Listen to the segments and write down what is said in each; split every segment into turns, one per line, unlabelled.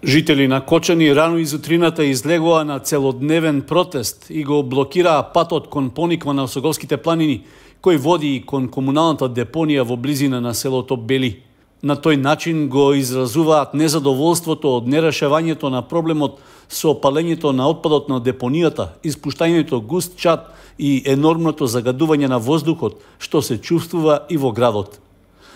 Жители на Кочани рано изутрината излегоа на целодневен протест и го блокираа патот кон пониква на Осоговските планини, кој води и кон комуналната депонија во близина на селото Бели. На тој начин го изразуваат незадоволството од нерешавањето на проблемот со опалењето на отпадот на депонијата, испуштањето густ чад и енормното загадување на воздухот, што се чувствува и во градот.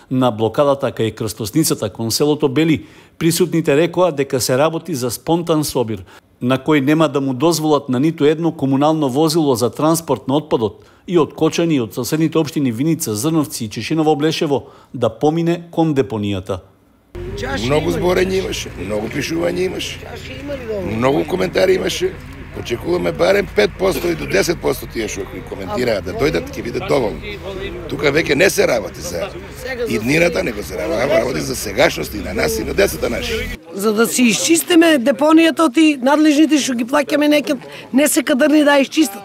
На блокадата кај крстосницата кон селото Бели, присутните рекоа дека се работи за спонтан собир, на кој нема да му дозволат на ниту едно комунално возило за транспорт на отпадот и од Кочани и од соседните општини Виница, Зрновци и Чешиново Блешево да помине кон депонијата.
Многу зборење имаше, многу пишување имаше, многу коментари имаше. Очекуваме барем 5% и до 10% тие што коментираат да дојдат, ќе биде доволно. Тука веќе не се работи за иднината, него се работи за сегашност и на нас и на децата наши.
За да си изчистиме депонијата и надлежните што ги плаќаме не се кадрни да изчистат.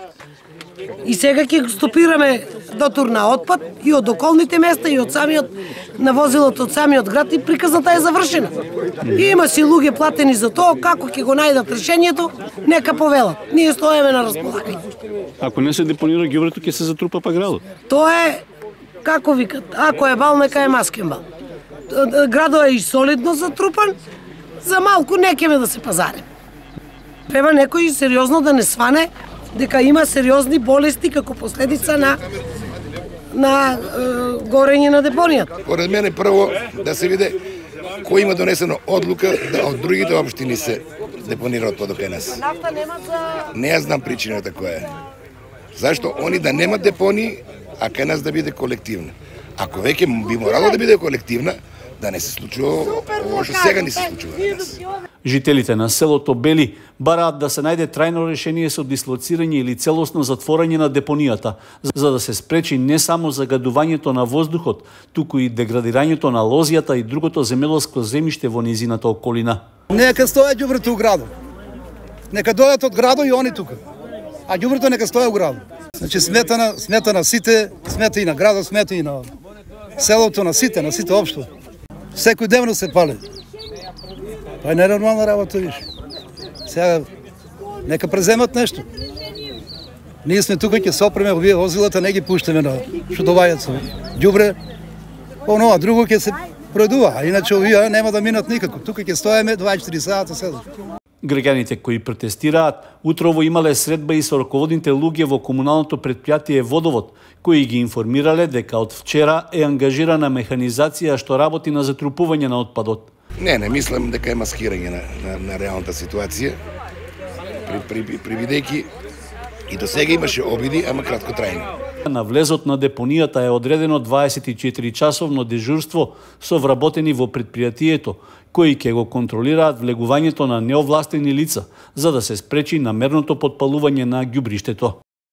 И сега ќе стопираме дотур на отпад и од околните места и од самиот на возилото од самиот град и приказната е завршена. И има си луѓе платени за тоа, како ќе го најдат решението, нека повелат. Ние стоеме на располагање.
Ако не се депонира ѓубрето, ќе се затрупа па градот.
Тоа е, како викат, ако е бал, нека е маскен бал. Градот е и солидно затрупан, за малку не ќеме да се пазарим. Треба некој сериозно да не сване дека има сериозни болести како последица на горење на депонијата.
Поред мене прво да се види кој има донесено одлука да од другите општини се депонира отпадот кај нас. Не ја знам причината која е. Зашто они да немат депонии, а кај нас да биде колективна. Ако веќе би морало да биде колективна, да не се случува ово што сега ни се случува на нас.
Жителите на селото Бели бараат да се најде трајно решение со дислоцирање или целосно затворање на депонијата, за да се спречи не само загадувањето на воздухот, туку и деградирањето на лозијата и другото земјоделско земјиште во низината околина.
Нека стоја ѓубрето у градот. Нека дојдат од градот и они тука. А ѓубрето нека стоја у градот. Значи смета на сите, смета и на градот, смета и на селото, на сите општо. Секојдневно се пали. Тоа е ненормална работа, виж. Сега нека преземат нешто. Ние сме тука, ќе се опреме овие возилата, не ги пуштаме на што доваѓаат со ѓубре. Оно, а друго ќе се продува, а иначе овие нема да минат никако. Тука ќе стоеме 24 сата седат.
Граѓаните кои протестираат утрово имале средба и со раководните луѓе во комуналното предпријатие Водовод, кои ги информирале дека од вчера е ангажирана механизација што работи на затрупување на отпадот.
Не мислам дека е маскирање на реалната ситуација. Привидејќи и до сега имаше обиди, ама краткотрајни.
На влезот на депонијата е одредено 24-часовно дежурство со вработени во предпријатието, кои ќе го контролираат влегувањето на неовластени лица, за да се спречи намерното потпалување на ѓубриштето.